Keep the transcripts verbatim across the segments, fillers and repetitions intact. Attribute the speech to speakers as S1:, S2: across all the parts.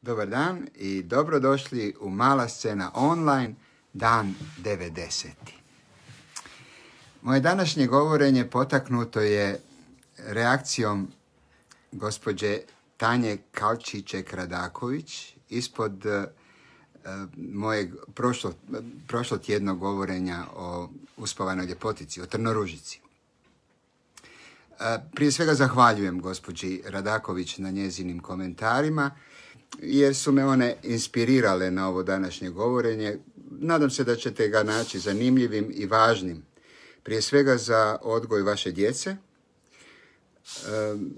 S1: Dobar dan i dobrodošli u Mala scena online, dan devedeset. Moje današnje govorenje potaknuto je reakcijom gospođe Tanje Kalčićek-Radaković ispod uh, mojeg prošlo, prošlotjednog govorenja o uspavanoj ljepotici, o Trnoružici. Uh, prije svega zahvaljujem gospođi Radaković na njezinim komentarima, jer su me one inspirirale na ovo današnje govorenje. Nadam se da ćete ga naći zanimljivim i važnim. Prije svega za odgoj vaše djece,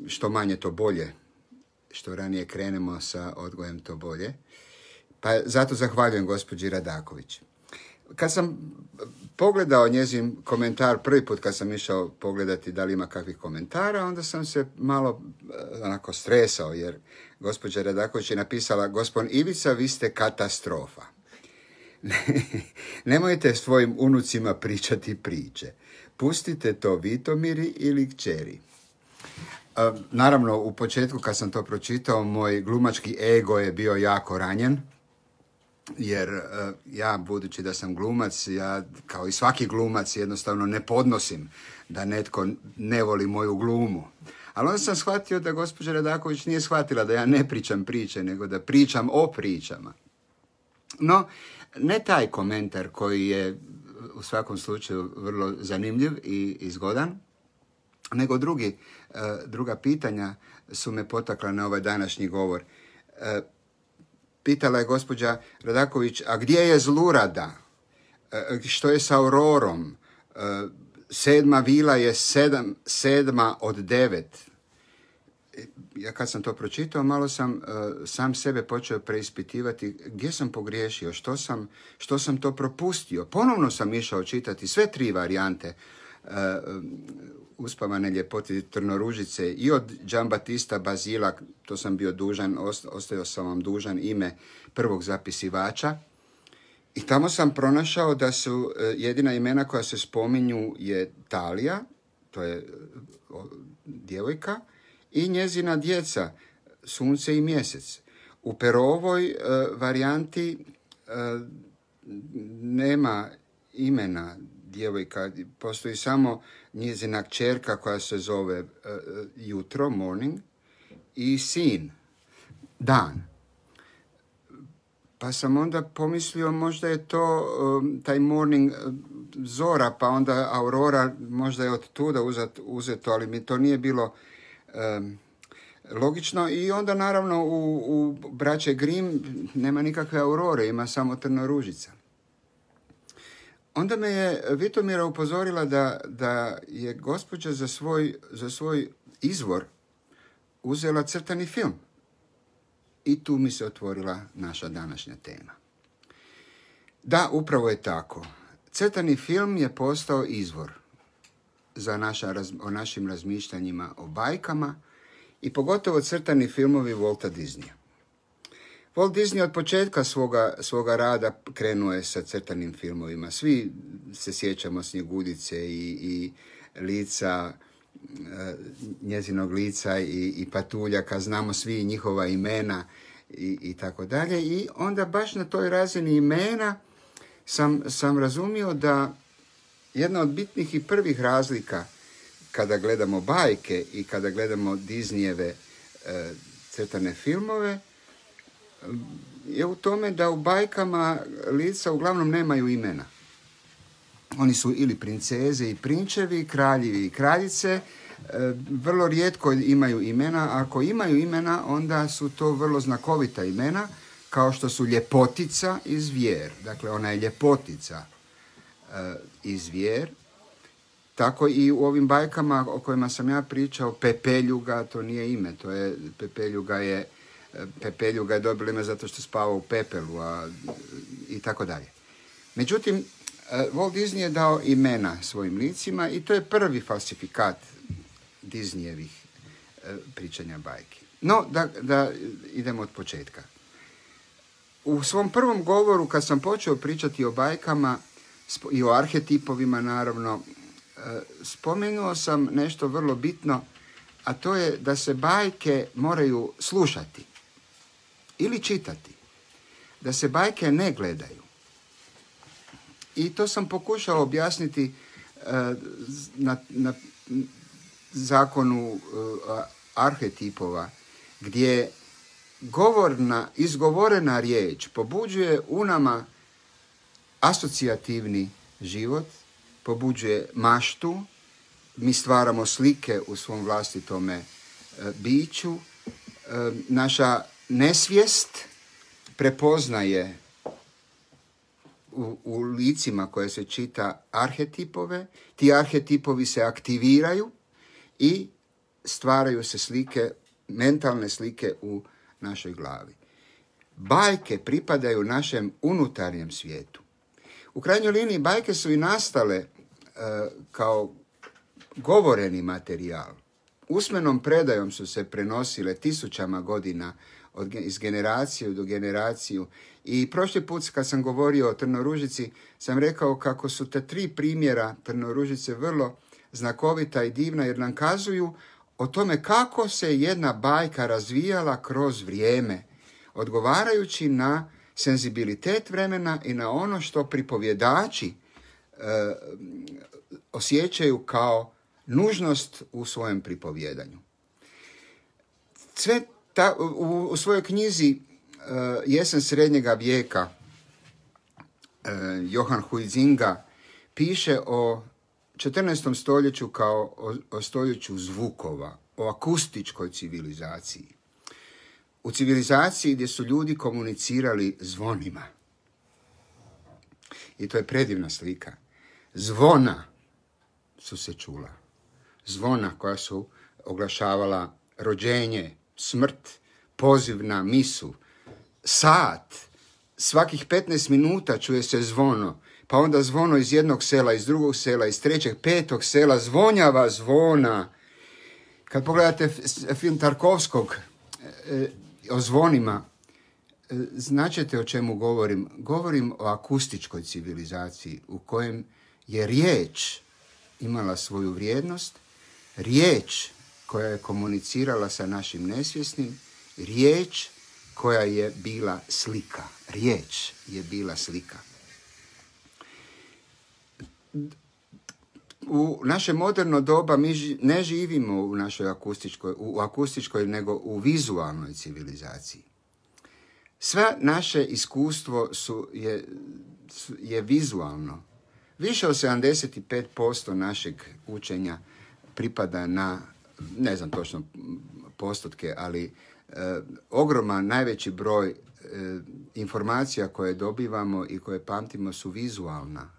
S1: što manje to bolje, što ranije krenemo sa odgojem to bolje. Pa zato zahvaljujem gospođi Radaković. Kad sam pogledao njezin komentar, prvi put kad sam išao pogledati da li ima kakvih komentara, onda sam se malo onako stresao, jer gospođa Radaković je napisala: gospodin Ivica, vi ste katastrofa. Nemojte svojim unucima pričati priče. Pustite to Vitomiri ili kćeri. Naravno, u početku kad sam to pročitao, moj glumački ego je bio jako ranjen. Jer uh, ja, budući da sam glumac, ja kao i svaki glumac jednostavno ne podnosim da netko ne voli moju glumu. Ali onda sam shvatio da gospođa Radaković nije shvatila da ja ne pričam priče, nego da pričam o pričama. No, ne taj komentar koji je u svakom slučaju vrlo zanimljiv i, i zgodan, nego drugi, uh, druga pitanja su me potakla na ovaj današnji govor. Uh, Pitala je gospođa Radaković: a gdje je Zlurada? E, što je sa Aurorom? E, sedma vila je sedam, sedma od devet. Ja kad sam to pročitao, malo sam e, sam sebe počeo preispitivati gdje sam pogriješio, što sam, što sam to propustio. Ponovno sam išao čitati sve tri varijante e, uspavane ljepote Trnoružice i od Giambattista Basila, to sam bio dužan, ostao sam vam dužan ime prvog zapisivača. I tamo sam pronašao da su jedina imena koja se spominju je Talija, to je djevojka, i njezina djeca, Sunce i Mjesec. U Perovoj uh, varijanti uh, nema imena djevojka, postoji samo njezina kćerka koja se zove uh, jutro, morning, i sin, dan. Pa sam onda pomislio možda je to um, taj morning uh, zora, pa onda aurora možda je od tuda uzet, uzeto, ali mi to nije bilo um, logično. I onda naravno u, u braće Grimm nema nikakve aurore, ima samo Trnoružica. Onda me je Vitomira upozorila da, da je gospođa za svoj, za svoj izvor uzela crtani film. I tu mi se otvorila naša današnja tema. Da, upravo je tako. Crtani film je postao izvor za naša, o našim razmišljanjima o bajkama i pogotovo crtani filmovi Walta Disneya. Walt Disney od početka svoga, svoga rada krenuo je sa crtanim filmovima. Svi se sjećamo Snjeguljice i, i lica, njezinog lica i, i patuljaka, znamo svi njihova imena i, i tako dalje. I onda baš na toj razini imena sam, sam razumio da jedna od bitnih i prvih razlika kada gledamo bajke i kada gledamo Disneyjeve e, crtane filmove je u tome da u bajkama lica uglavnom nemaju imena. Oni su ili princeze i prinčevi, kraljevi i kraljice, vrlo rijetko imaju imena. Ako imaju imena, onda su to vrlo znakovita imena, kao što su Ljepotica i Zvijer. Dakle, ona je Ljepotica i Zvijer. Tako i u ovim bajkama o kojima sam ja pričao, Pepeljuga, to nije ime, to je, Pepeljuga je, Pepeljuga je dobila ime zato što spava u pepelu, a, i tako dalje. Međutim, Walt Disney je dao imena svojim licima i to je prvi falsifikat Disneyjevih pričanja bajki. No, da, da idemo od početka. U svom prvom govoru, kad sam počeo pričati o bajkama i o arhetipovima, naravno, spomenuo sam nešto vrlo bitno, a to je da se bajke moraju slušati. ili čitati, da se bajke ne gledaju. I to sam pokušao objasniti uh, na, na zakonu uh, arhetipova, gdje govorna, izgovorena riječ pobuđuje u nama asocijativni život, pobuđuje maštu, mi stvaramo slike u svom vlastitome e, biću, e, naša nesvijest prepoznaje u, u licima koje se čita arhetipove, ti arhetipovi se aktiviraju i stvaraju se slike, mentalne slike u našoj glavi. Bajke pripadaju našem unutarnjem svijetu. U krajnjoj liniji bajke su i nastale uh, kao govoreni materijal. Usmenom predajom su se prenosile tisućama godina od, iz generacije do generaciju. I prošli put kad sam govorio o Trnoružici, sam rekao kako su te tri primjera Trnoružice vrlo znakovita i divna, jer nam kazuju o tome kako se jedna bajka razvijala kroz vrijeme, odgovarajući na senzibilitet vremena i na ono što pripovjedači e, osjećaju kao nužnost u svojem pripovjedanju. Sve ta, u, u svojoj knjizi e, Jesen srednjega vijeka e, Johan Huizinga piše o četrnaestom stoljeću kao o, o stoljeću zvukova, o akustičkoj civilizaciji. U civilizaciji gdje su ljudi komunicirali zvonima. I to je predivna slika. Zvona su se čula. Zvona koja su oglašavala rođenje, smrt, poziv na misu, sat. Svakih petnaest minuta čuje se zvono. Pa onda zvono iz jednog sela, iz drugog sela, iz trećeg, petog sela, zvonjava zvona. Kad pogledate film Tarkovskog e, o zvonima, e, značite o čemu govorim. Govorim o akustičkoj civilizaciji u kojem je riječ imala svoju vrijednost, riječ koja je komunicirala sa našim nesvjesnim, riječ koja je bila slika. Riječ je bila slika. U naše moderno doba mi ne živimo u našoj akustičkoj, u akustičkoj, nego u vizualnoj civilizaciji. Sve naše iskustvo su, je, je vizualno. Više od sedamdeset pet posto našeg učenja pripada na, ne znam točno postotke, ali e, ogroman, najveći broj e, informacija koje dobivamo i koje pamtimo su vizualna.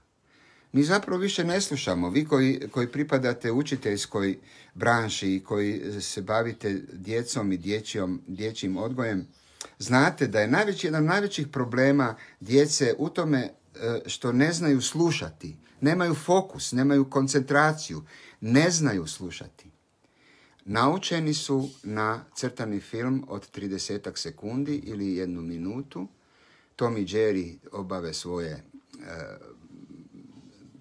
S1: Mi zapravo više ne slušamo. Vi koji, koji pripadate učiteljskoj branši i koji se bavite djecom i dječjom, dječjim odgojem, znate da je najveći, jedan od najvećih problema djece u tome što ne znaju slušati. Nemaju fokus, nemaju koncentraciju, ne znaju slušati. Naučeni su na crtani film od tridesetak sekundi ili jednu minutu. Tom i Jerry obave svoje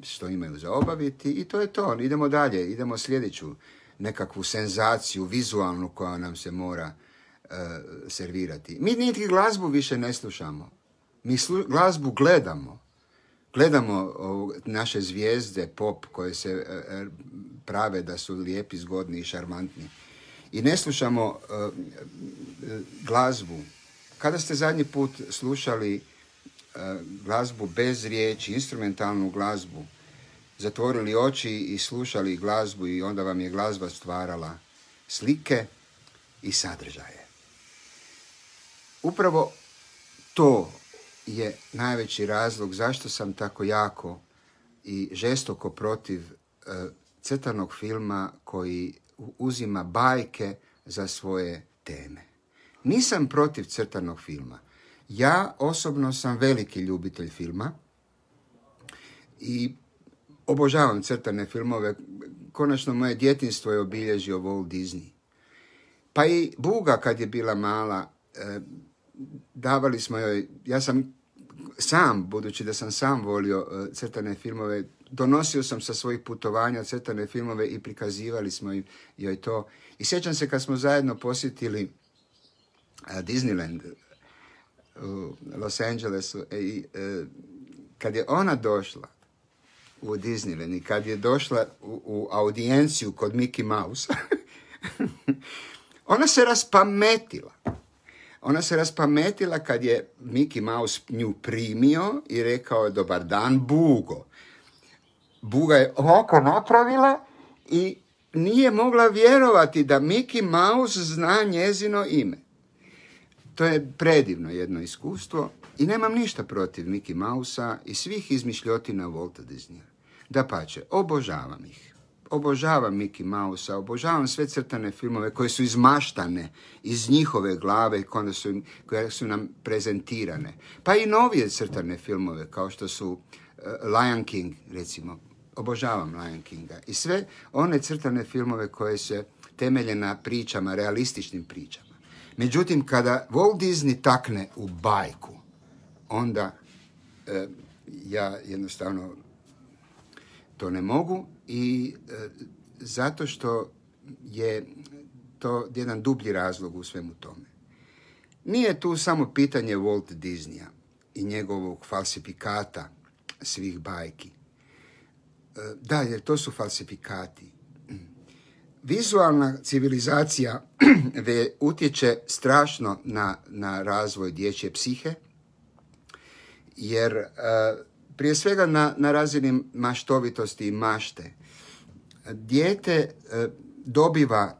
S1: što imaju za obaviti i to je to. Idemo dalje, idemo sljedeću nekakvu senzaciju vizualnu koja nam se mora uh, servirati. Mi niti glazbu više ne slušamo. Mi slu, glazbu gledamo. Gledamo uh, naše zvijezde pop koje se uh, prave da su lijepi, zgodni i šarmantni. I ne slušamo uh, glazbu. Kada ste zadnji put slušali glazbu bez riječi, instrumentalnu glazbu, zatvorili oči i slušali glazbu i onda vam je glazba stvarala slike i sadržaje. Upravo to je najveći razlog zašto sam tako jako i žestoko protiv uh, crtanog filma koji uzima bajke za svoje teme. Nisam protiv crtanog filma. Ja osobno sam veliki ljubitelj filma i obožavam crtane filmove. Konačno moje djetinjstvo je obilježio Walt Disney. Pa i Buga kad je bila mala, eh, davali smo joj, ja sam sam, budući da sam sam volio eh, crtane filmove, donosio sam sa svojih putovanja crtane filmove i prikazivali smo joj to. I sjećam se kad smo zajedno posjetili eh, Disneyland, u Los Angelesu. I e, kad je ona došla u Disneyland i kad je došla u, u audijenciju kod Mickey Mouse, ona se raspametila. Ona se raspametila kad je Mickey Mouse nju primio i rekao dobar dan, Bugo. Buga je ovako napravila i nije mogla vjerovati da Mickey Mouse zna njezino ime. To je predivno jedno iskustvo i nemam ništa protiv Mickey Mousea i svih izmišljotina Walta Disneya. Dapače, obožavam ih. Obožavam Mickey Mousea, obožavam sve crtane filmove koje su izmaštane iz njihove glave koje su, koje su nam prezentirane. Pa i novije crtane filmove kao što su uh, Lion King, recimo. Obožavam Lion Kinga. I sve one crtane filmove koje se temelje na pričama, realističnim pričama. Međutim, kada Walt Disney takne u bajku, onda e, ja jednostavno to ne mogu i e, zato što je to jedan dublji razlog u svemu tome. Nije tu samo pitanje Walt Disneya i njegovog falsifikata svih bajki. E, da, jer to su falsifikati. Vizualna civilizacija utječe strašno na, na razvoj dječje psihe, jer uh, prije svega na, na razini maštovitosti i mašte. Dijete uh, dobiva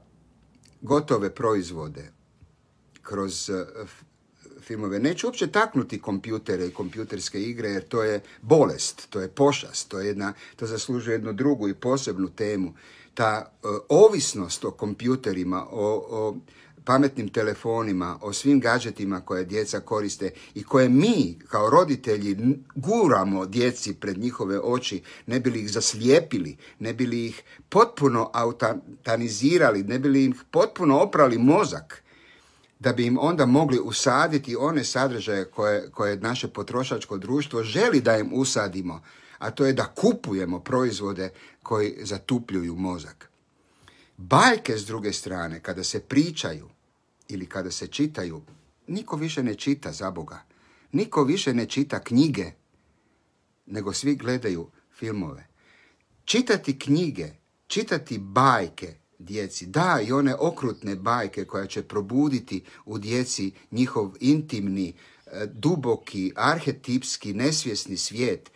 S1: gotove proizvode kroz uh, filmove. Neću uopće taknuti kompjutere i kompjuterske igre, jer to je bolest, to je pošast, to, je jedna, to zaslužuje jednu drugu i posebnu temu. Ta uh, ovisnost o kompjuterima, o, o pametnim telefonima, o svim gadžetima koje djeca koriste i koje mi kao roditelji guramo djeci pred njihove oči, ne bi li ih zaslijepili, ne bi li ih potpuno autanizirali, ne bi li ih potpuno oprali mozak, da bi im onda mogli usaditi one sadržaje koje, koje naše potrošačko društvo želi da im usadimo, a to je da kupujemo proizvode koji zatupljuju mozak. Bajke, s druge strane, kada se pričaju ili kada se čitaju, niko više ne čita, za Boga. Niko više ne čita knjige, nego svi gledaju filmove. Čitati knjige, čitati bajke djeci, da, i one okrutne bajke koja će probuditi u djeci njihov intimni, duboki, arhetipski, nesvjesni svijet,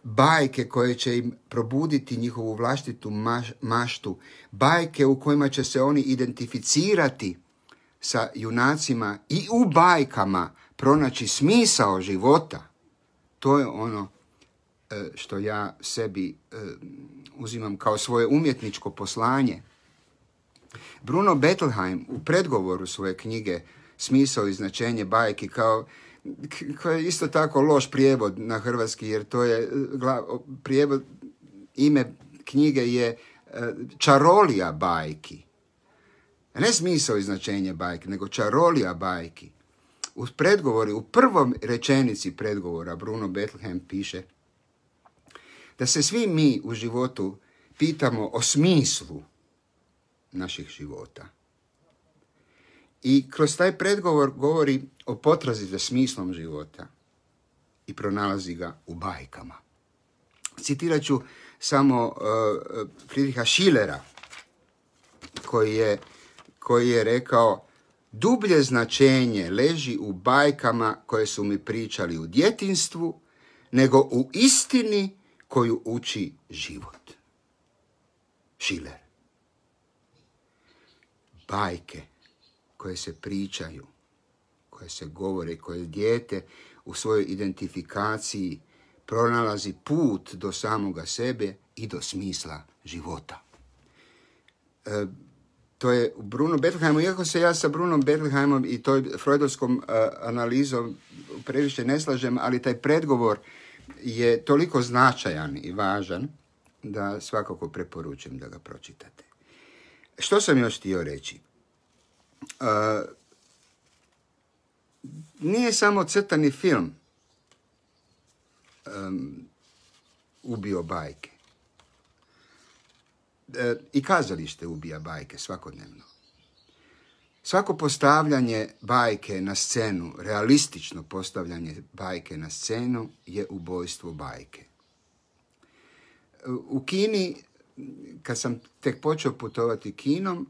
S1: bajke koje će im probuditi njihovu vlastitu maš, maštu, bajke u kojima će se oni identificirati sa junacima i u bajkama pronaći smisao života. To je ono što ja sebi uzimam kao svoje umjetničko poslanje. Bruno Bettelheim u predgovoru svoje knjige Smisao i značenje bajki, kao koji je isto tako loš prijevod na hrvatski, jer to je prijevod, ime knjige je Čarolija bajki. Ne smisao i značenje bajki, nego čarolija bajki. U predgovori, u prvom rečenici predgovora Bruno Bettelheim piše da se svi mi u životu pitamo o smislu naših života. I kroz taj predgovor govori o potrazi za smislom života i pronalazi ga u bajkama. Citirat ću samo uh, Friedricha Schillera, koji je, koji je rekao: dublje značenje leži u bajkama koje su mi pričali u djetinjstvu, nego u istini koju uči život. Schiller. Bajke koje se pričaju, koje se govore, koje dijete u svojoj identifikaciji pronalazi put do samoga sebe i do smisla života. E, to je Bruno Bettelheimom, iako se ja sa Brunom Bettelheimom i toj freudovskom uh, analizom previše ne slažem, ali taj predgovor je toliko značajan i važan da svakako preporučujem da ga pročitate. Što sam još htio reći? Uh, nije samo crtani film um, ubio bajke. Uh, I kazalište ubija bajke svakodnevno. Svako postavljanje bajke na scenu, realistično postavljanje bajke na scenu je ubojstvo bajke. U Kini, kad sam tek počeo putovati kinom,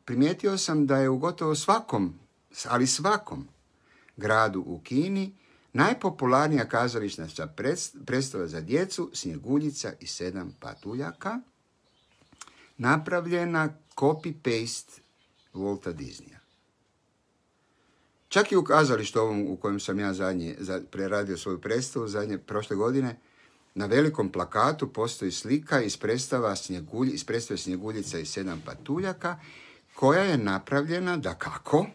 S1: primijetio sam da je u gotovo svakom, ali svakom gradu u Kini najpopularnija kazališna predstava za djecu Snjeguljica i sedam patuljaka, napravljena copy-paste Walta Disneya. Čak i u kazalištu ovom u kojem sam ja zadnje preradio svoju predstavu, zadnje prošle godine, na velikom plakatu postoji slika iz predstava Snjegulj, iz predstave Snjeguljica i sedam patuljaka, koja je napravljena, dakako,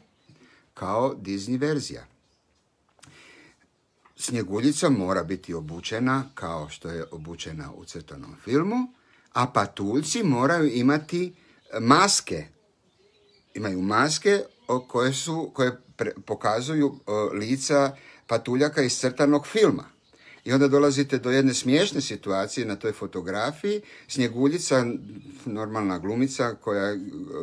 S1: kao Disney verzija. Snjeguljica mora biti obučena kao što je obučena u crtanom filmu, a patuljci moraju imati maske. Imaju maske koje, su, koje pre, pokazuju o, lica patuljaka iz crtanog filma. I onda dolazite do jedne smiješne situacije na toj fotografiji. Snjeguljica, normalna glumica koja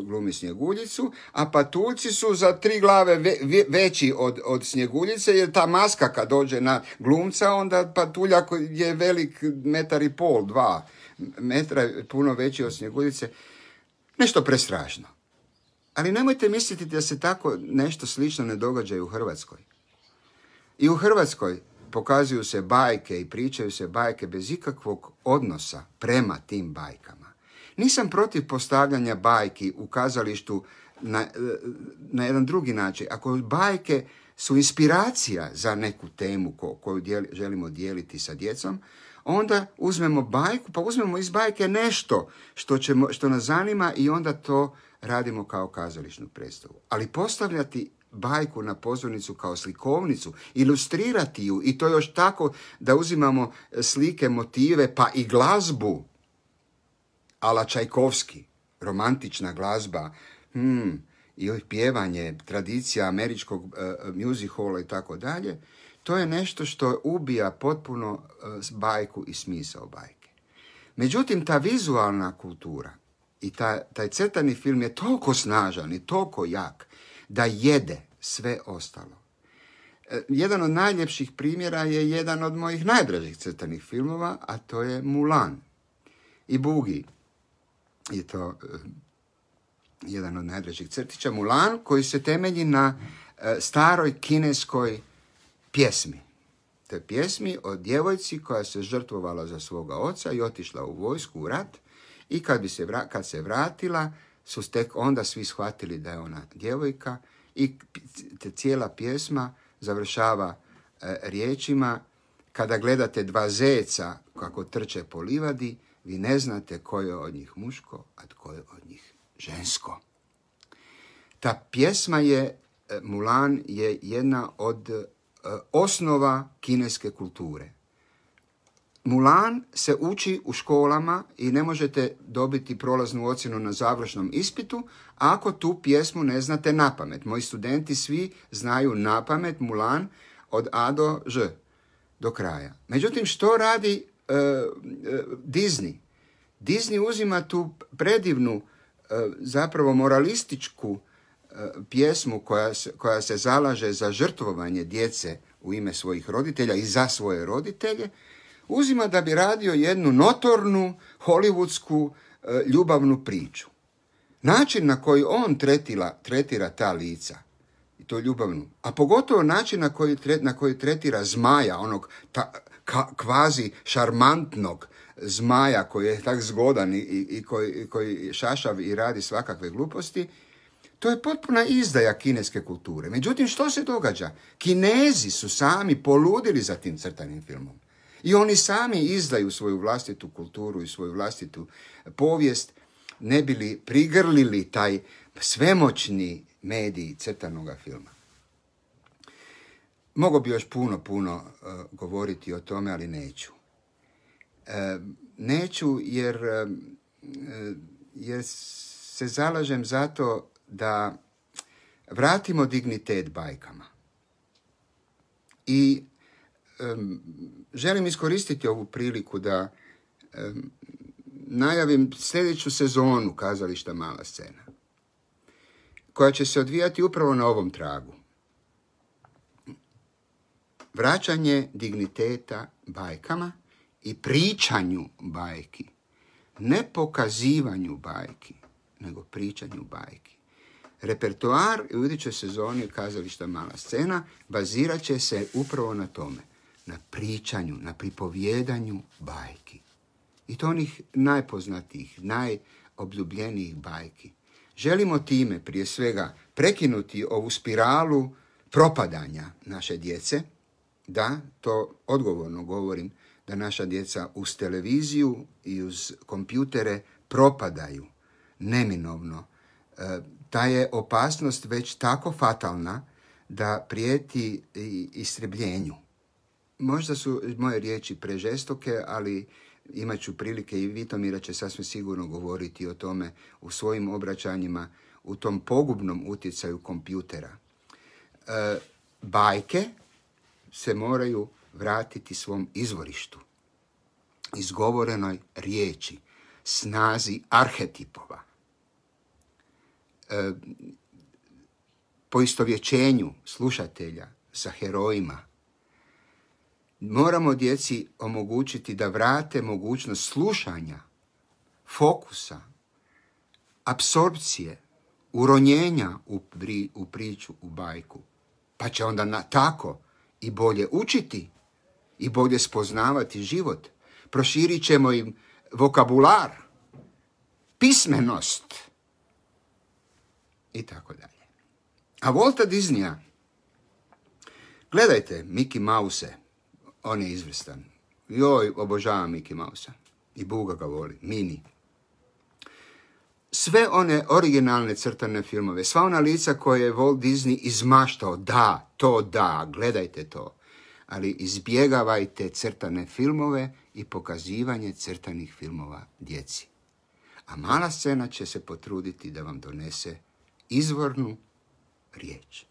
S1: glumi Snjeguljicu, a patuljci su za tri glave ve, ve, veći od, od Snjeguljice, jer ta maska kad dođe na glumca, onda patuljak je velik metar i pol, dva metra, puno veći od Snjeguljice. Nešto prestrašno. Ali nemojte misliti da se tako nešto slično ne događa i u Hrvatskoj. I u Hrvatskoj pokazuju se bajke i pričaju se bajke bez ikakvog odnosa prema tim bajkama. Nisam protiv postavljanja bajki u kazalištu na, na jedan drugi način. Ako bajke su inspiracija za neku temu ko, koju dijeli, želimo dijeliti sa djecom, onda uzmemo bajku, pa uzmemo iz bajke nešto što, ćemo, što nas zanima i onda to radimo kao kazališnu predstavu. Ali postavljati bajku na pozornicu kao slikovnicu, ilustrirati ju i to još tako da uzimamo slike, motive, pa i glazbu a la Čajkovski, romantična glazba, hmm, i pjevanje, tradicija američkog uh, music halla i tako dalje, to je nešto što ubija potpuno uh, bajku i smisao bajke. Međutim, ta vizualna kultura i ta, taj crtani film je toliko snažan i toliko jak da jede sve ostalo. Jedan od najljepših primjera je jedan od mojih najdražih crtanih filmova, a to je Mulan. I Bugi je to uh, jedan od najdražih crtića. Mulan, koji se temelji na uh, staroj kineskoj pjesmi. To je pjesmi o djevojci koja se žrtvovala za svoga oca i otišla u vojsku, u rat, i kad, bi se, vra- kad se vratila, su tek onda svi shvatili da je ona djevojka. I cijela pjesma završava e, riječima: kada gledate dva zeca kako trče po livadi, vi ne znate ko je od njih muško, a tko je od njih žensko. Ta pjesma je, e, Mulan je jedna od e, osnova kineske kulture. Mulan se uči u školama i ne možete dobiti prolaznu ocjenu na završnom ispitu ako tu pjesmu ne znate napamet. Moji studenti svi znaju napamet Mulan od A do Ž, do kraja. Međutim, što radi uh, uh, Disney? Disney uzima tu predivnu, uh, zapravo moralističku uh, pjesmu koja se, koja se zalaže za žrtvovanje djece u ime svojih roditelja i za svoje roditelje, uzima da bi radio jednu notornu hollywoodsku e, ljubavnu priču. Način na koji on tretira, tretira ta lica, i to ljubavnu, a pogotovo način na koji, na koji tretira zmaja, onog ta, ka, kvazi šarmantnog zmaja koji je tak zgodan i, i koji, koji šašav i radi svakakve gluposti, to je potpuna izdaja kineske kulture. Međutim, što se događa? Kinezi su sami poludili za tim crtanim filmom. I oni sami izdaju svoju vlastitu kulturu i svoju vlastitu povijest, ne bi li prigrlili taj svemoćni medij crtanog filma. Mogu bi još puno, puno uh, govoriti o tome, ali neću. Uh, neću jer, uh, jer se zalažem zato da vratimo dignitet bajkama. I um, želim iskoristiti ovu priliku da um, najavim sljedeću sezonu kazališta Mala scena. koja će se odvijati upravo na ovom tragu. Vraćanje digniteta bajkama i pričanju bajki. Ne pokazivanju bajki, nego pričanju bajki. Repertoar u idućoj sezoni kazališta Mala scena bazirat će se upravo na tome. Na pričanju, na pripovjedanju bajki. I to onih najpoznatijih, najobljubljenijih bajki. Želimo time prije svega prekinuti ovu spiralu propadanja naše djece. Da, to odgovorno govorim, da naša djeca uz televiziju i uz kompjutere propadaju neminovno. E, ta je opasnost već tako fatalna da prijeti istrebljenju. Možda su moje riječi prežestoke, ali imat ću prilike i Vitomira će sasvim sigurno govoriti o tome u svojim obraćanjima, u tom pogubnom utjecaju kompjutera. E, bajke se moraju vratiti svom izvorištu, izgovorenoj riječi, snazi arhetipova, e, poistovjećenju slušatelja sa herojima. Moramo djeci omogućiti da vrate mogućnost slušanja, fokusa, apsorpcije, uronjenja u, pri, u priču, u bajku. Pa će onda na tako i bolje učiti i bolje spoznavati život. Proširit ćemo im vokabular, pismenost i tako dalje. A Walta Disneya, gledajte Mickey Mouse, on je izvrstan. Joj, obožavam Mickey Mouse. I Buga ga voli, Mini. Sve one originalne crtane filmove, sva ona lica koje je Walt Disney izmaštao, da, to da, gledajte to. Ali izbjegavajte crtane filmove i pokazivanje crtanih filmova djeci. A Mala scena će se potruditi da vam donese izvornu riječ.